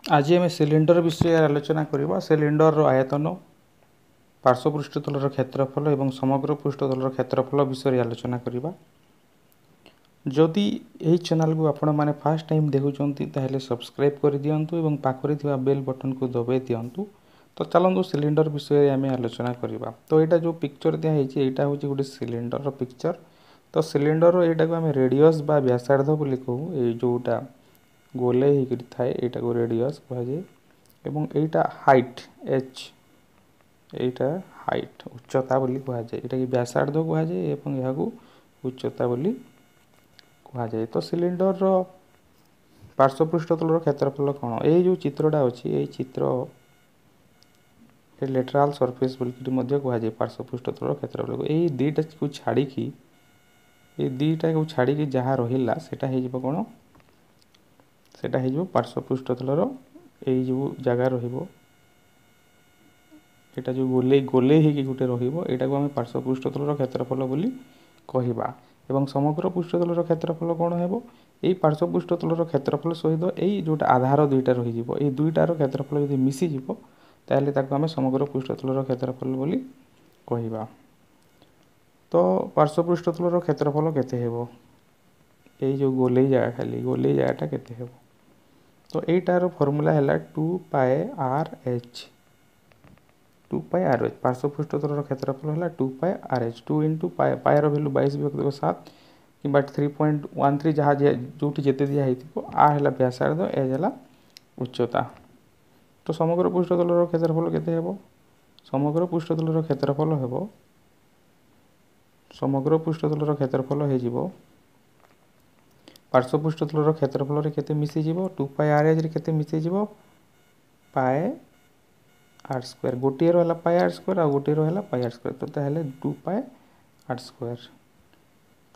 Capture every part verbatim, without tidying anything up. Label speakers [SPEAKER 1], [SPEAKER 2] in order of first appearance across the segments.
[SPEAKER 1] ଆଜି ଆମେ ସିଲିଣ୍ଡର ବିଷୟରେ ଆଲୋଚନା କରିବା। ସିଲିଣ୍ଡରର ଆୟତନ, ପାର୍ଶ୍ୱ ପୃଷ୍ଠତଳର କ୍ଷେତ୍ରଫଳ ଏବଂ ସମଗ୍ର ପୃଷ୍ଠତଳର କ୍ଷେତ୍ରଫଳ ବିଷୟରେ ଆଲୋଚନା କରିବା। ଯଦି ଏହି ଚ୍ୟାନେଲକୁ ଆପଣମାନେ ଫାର୍ଷ୍ଟ ଟାଇମ୍ ଦେଖୁଛନ୍ତି, ତାହେଲେ ସବସ୍କ୍ରାଇବ୍ କରିଦିଅନ୍ତୁ ଏବଂ ପାଖରେ ଥିବା ବେଲ୍ ବଟନ୍କୁ ଦବାଇ ଦିଅନ୍ତୁ। ତ ଚାଲନ୍ତୁ, ସିଲିଣ୍ଡର ବିଷୟରେ ଆମେ ଆଲୋଚନା କରିବା। ତ ଏଇଟା ଯେଉଁ ପିକ୍ଚର ଦିଆହେଇଛି, ଏଇଟା ହେଉଛି ଗୋଟେ ସିଲିଣ୍ଡରର ପିକ୍ଚର। ତ ସିଲିଣ୍ଡରର ଏଇଟାକୁ ଆମେ ରେଡ଼ିୟସ୍ ବା ବ୍ୟାସାର୍ଦ୍ଧ ବୋଲି କହୁ। ଏଇ ଯେଉଁଟା ଗୋଲେଇ ହେଇକରି ଥାଏ, ଏଇଟାକୁ ରେଡ଼ିୟସ୍ କୁହାଯାଏ ଏବଂ ଏଇଟା ହାଇଟ୍ ଏଚ୍। ଏଇଟା ହାଇଟ୍, ଉଚ୍ଚତା ବୋଲି କୁହାଯାଏ। ଏଇଟାକି ବ୍ୟାସାର୍ଦ୍ଧ କୁହାଯାଏ ଏବଂ ଏହାକୁ ଉଚ୍ଚତା ବୋଲି କୁହାଯାଏ। ତ ସିଲିଣ୍ଡରର ପାର୍ଶ୍ୱ ପୃଷ୍ଠତଳର କ୍ଷେତ୍ରଫଳ କ'ଣ? ଏଇ ଯେଉଁ ଚିତ୍ରଟା ଅଛି, ଏଇ ଚିତ୍ର ଲେଟରାଲ୍ ସର୍ଫେସ୍ ବୋଲିକିରି ମଧ୍ୟ କୁହାଯାଏ ପାର୍ଶ୍ୱ ପୃଷ୍ଠତଳର କ୍ଷେତ୍ରଫଳକୁ। ଏଇ ଦୁଇଟାକୁ ଛାଡ଼ିକି ଏଇ ଦୁଇଟାକୁ ଛାଡ଼ିକି ଯାହା ରହିଲା, ସେଇଟା ହେଇଯିବ କ'ଣ? ସେଇଟା ହେଇଯିବ ପାର୍ଶ୍ୱ ପୃଷ୍ଠତଳର ଏଇ ଯେଉଁ ଜାଗା ରହିବ, ଏଇଟା ଯେଉଁ ଗୋଲେଇ ଗୋଲେଇ ହେଇକି ଗୋଟେ ରହିବ, ଏଇଟାକୁ ଆମେ ପାର୍ଶ୍ୱ ପୃଷ୍ଠତଳର କ୍ଷେତ୍ରଫଳ ବୋଲି କହିବା। ଏବଂ ସମଗ୍ର ପୃଷ୍ଠତଳର କ୍ଷେତ୍ରଫଳ କ'ଣ ହେବ? ଏଇ ପାର୍ଶ୍ୱ ପୃଷ୍ଠତଳର କ୍ଷେତ୍ରଫଳ ସହିତ ଏଇ ଯେଉଁଟା ଆଧାର ଦୁଇଟା ରହିଯିବ, ଏଇ ଦୁଇଟାର କ୍ଷେତ୍ରଫଳ ଯଦି ମିଶିଯିବ, ତାହେଲେ ତାକୁ ଆମେ ସମଗ୍ର ପୃଷ୍ଠତଳର କ୍ଷେତ୍ରଫଳ ବୋଲି କହିବା। ତ ପାର୍ଶ୍ୱ ପୃଷ୍ଠତଳର କ୍ଷେତ୍ରଫଳ କେତେ ହେବ? ଏଇ ଯେଉଁ ଗୋଲେଇ ଜାଗା, ଖାଲି ଗୋଲେଇ ଜାଗାଟା କେତେ ହେବ? ତ ଏଇଟାର ଫର୍ମୁଲା ହେଲା two pi r h, two pi r h। ପାର୍ଶ୍ୱ ପୃଷ୍ଠତଳର କ୍ଷେତ୍ରଫଳ ହେଲା two pi r h। Two into pi, ପାଏର value ବାଇଶ ବିଭକ୍ତ ସାତ କିମ୍ବା ଥ୍ରୀ ପଏଣ୍ଟ ୱାନ୍ ଥ୍ରୀ, ଯାହା ଯେଉଁଠି ଯେତେ ଦିଆ ହେଇଥିବ। ଆର୍ ହେଲା ବ୍ୟାସାର୍ଦ୍ଧ, ଏଚ୍ ହେଲା ଉଚ୍ଚତା। ତ ସମଗ୍ର ପୃଷ୍ଠତଳର କ୍ଷେତ୍ରଫଳ କେତେ ହେବ? ସମଗ୍ର ପୃଷ୍ଠତଳର କ୍ଷେତ୍ରଫଳ ହେବ ସମଗ୍ର ପୃଷ୍ଠତଳର କ୍ଷେତ୍ରଫଳ ହେଇଯିବ, ପାର୍ଶ୍ୱ ପୃଷ୍ଠତଳର କ୍ଷେତ୍ରଫଳରେ କେତେ ମିଶିଯିବ? ଟୁ ପାଏ ଆର୍ ଏଚ୍ରେ କେତେ ମିଶିଯିବ? ପାଏ ଆର୍ ସ୍କୋୟାର। ଗୋଟିଏ ରହିଲା ପାଏ ଆର୍ ସ୍କୋୟାର ଆଉ ଗୋଟିଏ ରହିଲା ପାଏ ଆର୍ ସ୍କୋୟାର, ତ ତାହେଲେ ଟୁ ପାଏ ଆର୍ ସ୍କୋୟାର।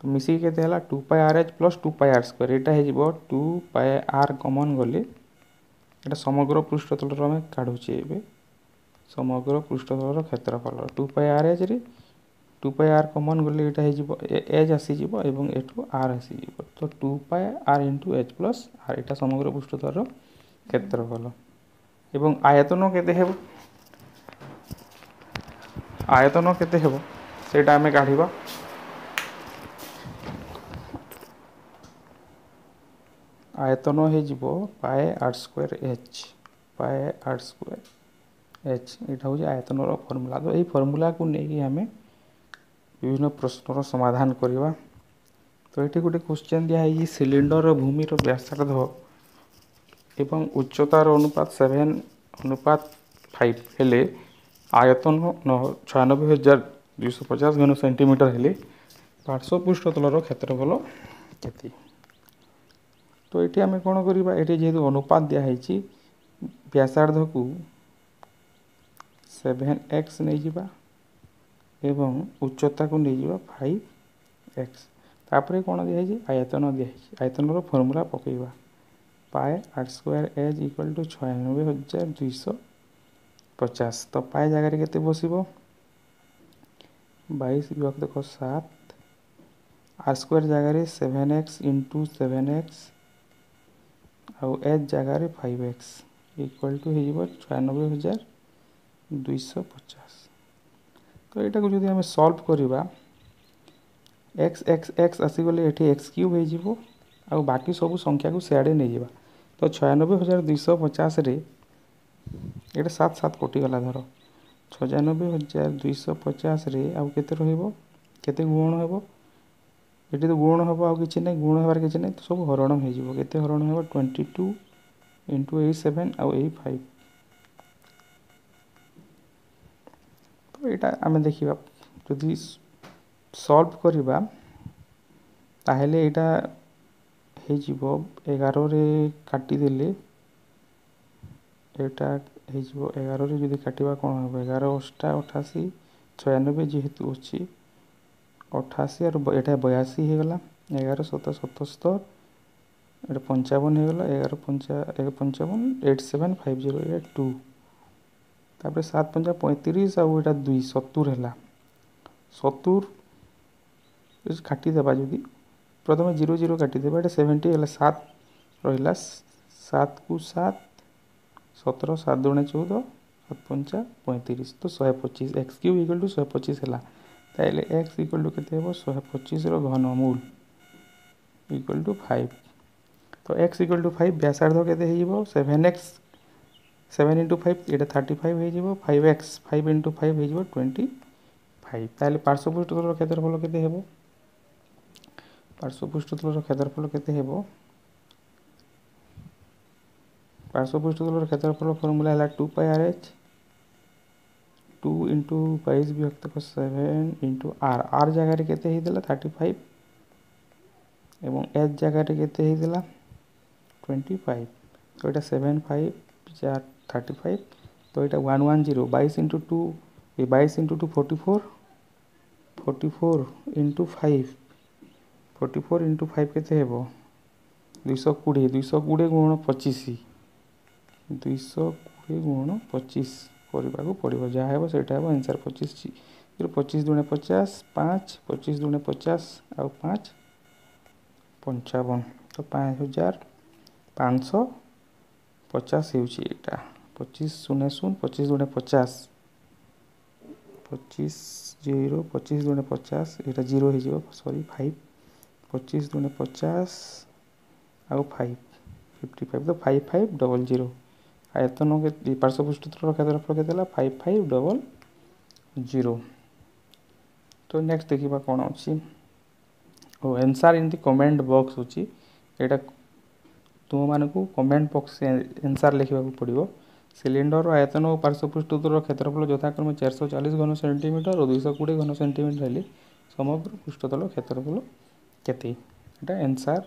[SPEAKER 1] ତ ମିଶିକି କେତେ ହେଲା? Two pi r h plus two pi r square। ଏଇଟା ହେଇଯିବ ଟୁ ପାଏ ଆର୍ କମନ୍ ଗଲେ, ଏଇଟା ସମଗ୍ର ପୃଷ୍ଠତଳର ଆମେ କାଢ଼ୁଛେ ଏବେ, ସମଗ୍ର ପୃଷ୍ଠତଳର କ୍ଷେତ୍ରଫଳ ଟୁ ପାଏ ଆର୍ ଏଚ୍ରେ ଟୁ ପାଏ ଆର୍ କମନ୍ ଗଲେ ଏଇଟା ହେଇଯିବ ଏଚ୍ ଆସିଯିବ ଏବଂ ଏଠୁ ଆର୍ ଆସିଯିବ। ତ two pi r into h plus r, ଏଇଟା ସମଗ୍ର ପୃଷ୍ଠତଳର କ୍ଷେତ୍ରଫଳ। ଏବଂ ଆୟତନ କେତେ ହେବ? ଆୟତନ କେତେ ହେବ, ସେଇଟା ଆମେ କାଢ଼ିବା। ଆୟତନ ହେଇଯିବ pi r square h, pi r square h। ଏଇଟା ହେଉଛି ଆୟତନର ଫର୍ମୁଲା। ତ ଏଇ ଫର୍ମୁଲାକୁ ନେଇକି ଆମେ ବିଭିନ୍ନ ପ୍ରଶ୍ନର ସମାଧାନ କରିବା। ତ ଏଠି ଗୋଟେ କ୍ୱେଶ୍ଚନ୍ ଦିଆହେଇଛି, ସିଲିଣ୍ଡରର ଭୂମିର ବ୍ୟାସାର୍ଦ୍ଧ ଏବଂ ଉଚ୍ଚତାର ଅନୁପାତ ସେଭେନ୍ ଅନୁପାତ ଫାଇଭ୍ ହେଲେ ଆୟତନ ଛୟାନବେ ହଜାର ଦୁଇଶହ ପଚାଶ ଘନ ସେଣ୍ଟିମିଟର ହେଲେ ପାର୍ଶ୍ୱ ପୃଷ୍ଠତଳର କ୍ଷେତ୍ରଫଳ କେତେ? ତ ଏଠି ଆମେ କ'ଣ କରିବା? ଏଠି ଯେହେତୁ ଅନୁପାତ ଦିଆହେଇଛି, ବ୍ୟାସାର୍ଦ୍ଧକୁ ସେଭେନ୍ ଏକ୍ସ ନେଇଯିବା ଏବଂ ଉଚ୍ଚତାକୁ ନେଇଯିବା ଫାଇଭ୍ ଏକ୍ସ। ତାପରେ କ'ଣ ଦିଆହେଇଛି? ଆୟତନ ଦିଆହେଇଛି। ଆୟତନର ଫର୍ମୁଲା ପକାଇବା, pi r square h equal to ଛୟାନବେ ହଜାର ଦୁଇଶହ ପଚାଶ। ତ ପାଏ ଜାଗାରେ କେତେ ବସିବ? ବାଇଶ ବିଭକ୍ତ ସାତ, ଆର୍ ସ୍କୋୟାର ଜାଗାରେ seven x into seven x ଆଉ ଏଚ୍ ଜାଗାରେ ଫାଇଭ୍ ଏକ୍ସ ଇକ୍ୱାଲ୍ ଟୁ ହେଇଯିବ ଛୟାନବେ ହଜାର ଦୁଇଶହ ପଚାଶ। ତ ଏଇଟାକୁ ଯଦି ଆମେ ସଲ୍ଭ କରିବା, ଏକ୍ସ ଏକ୍ସ ଏକ୍ସ ଆସିଗଲେ ଏଠି ଏକ୍ସ କ୍ୟୁବ୍ ହେଇଯିବ ଆଉ ବାକି ସବୁ ସଂଖ୍ୟାକୁ ସିଆଡ଼େ ନେଇଯିବା। ତ ଛୟାନବେ ହଜାର ଦୁଇଶହ ପଚାଶରେ ଏଇଟା ସାତ ସାତ କଟିଗଲା। ଧର ଛୟାନବେ ହଜାର ଦୁଇଶହ ପଚାଶରେ ଆଉ କେତେ ରହିବ? କେତେ ଗୁଣ ହେବ? ଏଠି ତ ଗୁଣ ହେବ ଆଉ କିଛି ନାହିଁ, ଗୁଣ ହେବାର କିଛି ନାହିଁ, ତ ସବୁ ହରଣ ହେଇଯିବ। କେତେ ହରଣ ହେବ? ଟ୍ୱେଣ୍ଟି ଟୁ ଇଣ୍ଟୁ ଏଇ ସେଭେନ୍ ଆଉ ଏଇ ଫାଇଭ୍। ତ ଏଇଟା ଆମେ ଦେଖିବା, ଯଦି ସଲ୍ଭ କରିବା ତାହେଲେ ଏଇଟା ହେଇଯିବ, ଏଗାରରେ କାଟିଦେଲେ ଏଇଟା ହେଇଯିବ। ଏଗାରରେ ଯଦି କାଟିବା କ'ଣ ହେବ? ଏଗାର ଅଷ୍ଟା ଅଠାଅଶୀ, ଛୟାନବେ ଯେହେତୁ ଅଛି, ଅଠାଅଶୀ ଆଉ ଏଇଟା ବୟାଅଶୀ ହେଇଗଲା। ଏଗାର ସତ ସତସ୍ତର, ଏଇଟା ପଞ୍ଚାବନ ହେଇଗଲା। ଏଗାର ପଞ୍ଚା ଏକ ପଞ୍ଚାବନ, ଏଇଟ୍ ସେଭେନ୍ ଫାଇଭ୍ ଜିରୋ, ଏଇଟା ଟୁ। ତାପରେ ସାତ ପଞ୍ଚା ପଇଁତିରିଶ ଆଉ ଏଇଟା ଦୁଇ, ସତୁର ହେଲା। ସତୁର କାଟିଦେବା ଯଦି, ପ୍ରଥମେ ଜିରୋ ଜିରୋ କାଟିଦେବା, ଏଇଟା ସେଭେଣ୍ଟି ହେଲା, ସାତ ରହିଲା, ସାତକୁ ସାତ। ସତର ସାତ ଦୁଣେ ଚଉଦ ସାତ ପଞ୍ଚା ପଇଁତିରିଶ ତ ଶହେ ପଚିଶ ଏକ୍ସ କ୍ୟୁବ୍ ଇକ୍ୱାଲ୍ ଟୁ ଶହେ ପଚିଶ ହେଲା ତାହେଲେ ଏକ୍ସ ଇକ୍ୱାଲ୍ ଟୁ କେତେ ହେବ ଶହେ ପଚିଶର ଘନମୂଳ ଇକ୍ୱାଲ୍ ଟୁ ଫାଇଭ୍ ତ ଏକ୍ସ ଇକ୍ୱାଲ୍ ଟୁ ଫାଇଭ୍ ବ୍ୟାସାର୍ଦ୍ଧ କେତେ ହେଇଯିବ seven x seven into five ଏଇଟା ଥାର୍ଟି ଫାଇଭ୍ ହେଇଯିବ five x five into five ହେଇଯିବ ଟ୍ୱେଣ୍ଟି ଫାଇଭ୍ ତାହେଲେ ପାର୍ଶ୍ୱ ପୃଷ୍ଠତଳର କ୍ଷେତ୍ରଫଳ କେତେ ହେବ ପାର୍ଶ୍ୱ ପୃଷ୍ଠତଳର କ୍ଷେତ୍ରଫଳ କେତେ ହେବ ପାର୍ଶ୍ୱ ପୃଷ୍ଠତଳର କ୍ଷେତ୍ରଫଳ ଫର୍ମୁଲା ହେଲା two pi r h two into ବାଇଶ ବିଭକ୍ତକ ସେଭେନ୍ ଇଣ୍ଟୁ ଆର୍ ଆର୍ ଜାଗାରେ କେତେ ହେଇଥିଲା ଥାର୍ଟି ଫାଇଭ୍ ଏବଂ ଏଚ୍ ଜାଗାରେ କେତେ ହେଇଥିଲା ଟ୍ୱେଣ୍ଟି ଫାଇଭ୍ ତ ଏଇଟା ସେଭେନ୍ ଫାଇଭ୍ ଚାର ଥାର୍ଟି ଫାଇଭ୍ ତ ଏଇଟା ୱାନ୍ ୱାନ୍ ଜିରୋ ବାଇଶ ଇଣ୍ଟୁ ଟୁ ଏ ବାଇଶ into two forty four forty four into five forty four into five କେତେ ହେବ ଦୁଇଶହ କୋଡ଼ିଏ ଦୁଇଶହ କୋଡ଼ିଏ ଗୁଣ ପଚିଶ ଦୁଇଶହ କୋଡ଼ିଏ ଗୁଣ ପଚିଶ କରିବାକୁ ପଡ଼ିବ ଯାହା ହେବ ସେଇଟା ହେବ ଆନ୍ସର୍ ପଚିଶ ପଚିଶ ଦୁଣେ ପଚାଶ ପାଞ୍ଚ ପଚିଶ ଦୁଣେ ପଚାଶ ଆଉ ପାଞ୍ଚ ପଞ୍ଚାବନ ତ ପାଞ୍ଚ ହଜାର ପାଞ୍ଚଶହ ପଚାଶ ହେଉଛି ଏଇଟା ପଚିଶ ଶୂନ ଶୂନ ପଚିଶ ଦୁଣେ ପଚାଶ ପଚିଶ ଜିରୋ ପଚିଶ ଦୁଣେ ପଚାଶ ଏଇଟା ଜିରୋ ହେଇଯିବ ସରି ଫାଇଭ୍ ପଚିଶ ଦୁଣେ ପଚାଶ ଆଉ ଫାଇଭ୍ ଫିଫ୍ଟି ଫାଇଭ୍ ତ ଫାଇଭ୍ ଫାଇଭ୍ ଡବଲ୍ ଜିରୋ ଆୟତନ ପାର୍ଶ୍ୱ ପୃଷ୍ଠତଳର କ୍ଷେତ୍ରଫଳ କେତେ ହେଲା ଫାଇଭ୍ ଫାଇଭ୍ ଡବଲ୍ ଜିରୋ ତ ନେକ୍ସଟ ଦେଖିବା କ'ଣ ଅଛି ଓ answer in the comment box ଅଛି ଏଇଟା ତୁମମାନଙ୍କୁ କମେଣ୍ଟ ବକ୍ସ ଆନ୍ସର୍ ଲେଖିବାକୁ ପଡ଼ିବ ସିଲିଣ୍ଡରର ଆୟତନ ଓ ପାର୍ଶ୍ୱ ପୃଷ୍ଠତଳର କ୍ଷେତ୍ରଫଳ ଯଥାକ୍ରମେ ଚାରିଶହ ଚାଳିଶ ଘନ ସେଣ୍ଟିମିଟର ଓ ଦୁଇଶହ କୋଡ଼ିଏ ଘନ ସେଣ୍ଟିମିଟର ହେଲେ ସମଗ୍ର ପୃଷ୍ଠତଳ କ୍ଷେତ୍ରଫଳ କେତେ ଏଇଟା ଆନ୍ସର୍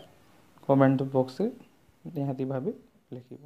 [SPEAKER 1] କମେଣ୍ଟ ବକ୍ସରେ ନିହାତି ଭାବେ ଲେଖିବ